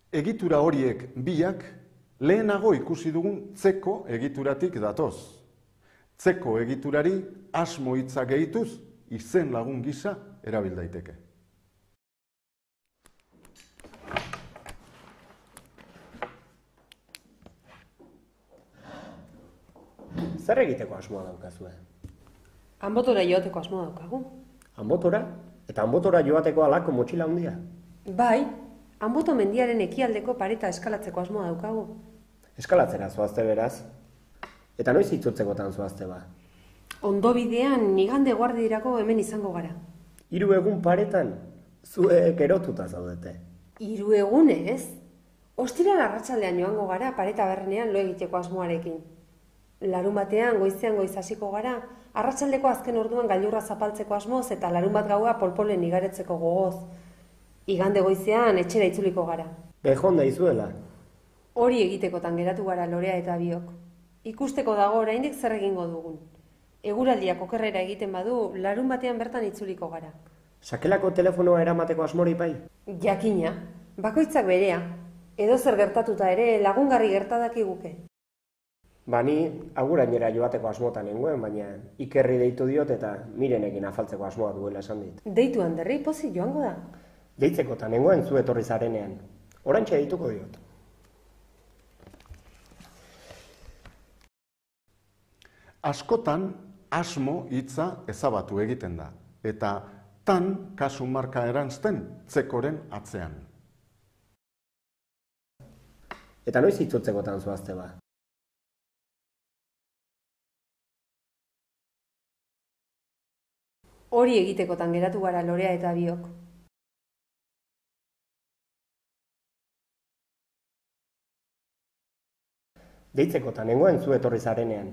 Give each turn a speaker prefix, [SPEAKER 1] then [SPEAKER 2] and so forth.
[SPEAKER 1] Egitura horiek biak lehenago ikusi dugun tzeko egituratik datoz. Tzeko egiturari asmo hitza gehituz izen lagun gisa erabil daiteke.
[SPEAKER 2] Zer egiteko asmoa daukazue?
[SPEAKER 3] Anbotora joateko asmoa daukagu.
[SPEAKER 2] Anbotora? Eta anbotora joateko halako motxila handia?
[SPEAKER 3] Bai, Anboto mendiaren ekialdeko pareta eskalatzeko asmoa daukagu.
[SPEAKER 2] Eskalatzera zoazte beraz? Eta noiz itzultzekotan zoazte ba?
[SPEAKER 3] Ondo bidean igande guardirako hemen izango gara.
[SPEAKER 2] 3 egun paretan, zuek erotuta zaudete.
[SPEAKER 3] 3 egunez? Ostiral arratsaldean joango gara pareta berrenean lo egiteko asmoarekin. Larunbatean goizean goiz hasiko gara, arratsaldeko azken orduan gailurra zapaltzeko asmoz eta larunbat gaua polpolen igaretzeko gogoz. Igande goizean etxera itzuliko gara.
[SPEAKER 2] Bejon daizuela.
[SPEAKER 3] Hori egitekotan geratu gara Lorea eta biok. Ikusteko dago oraindik zer egingo dugun. Eguraldiak okerrera egiten badu, larunbatean bertan itzuliko gara.
[SPEAKER 2] Sakelako telefonoa eramateko asmori bai?
[SPEAKER 3] Jakina, bakoitzak berea. Edozer gertatuta ere lagungarri gertadakiguke.
[SPEAKER 2] Bani agurainera joateko asmotan nengoen, baina Ikerri deitu diot eta Mirenekin afaltzeko asmoa duela esan dit.
[SPEAKER 3] Deitu Anderri pozik joango da.
[SPEAKER 2] Deitzekotan nengoen zu etorri zarenean. Oraintxe deituko diot.
[SPEAKER 1] Askotan asmo hitza ezabatu egiten da, eta tan kasu marka eranzten tzekoren atzean.
[SPEAKER 2] Eta noiz itzultzekotan zoazte ba?
[SPEAKER 3] Hori egitekotan geratu gara Lorea eta biok.
[SPEAKER 2] Deitzekotan nengoen zu etorri zarenean.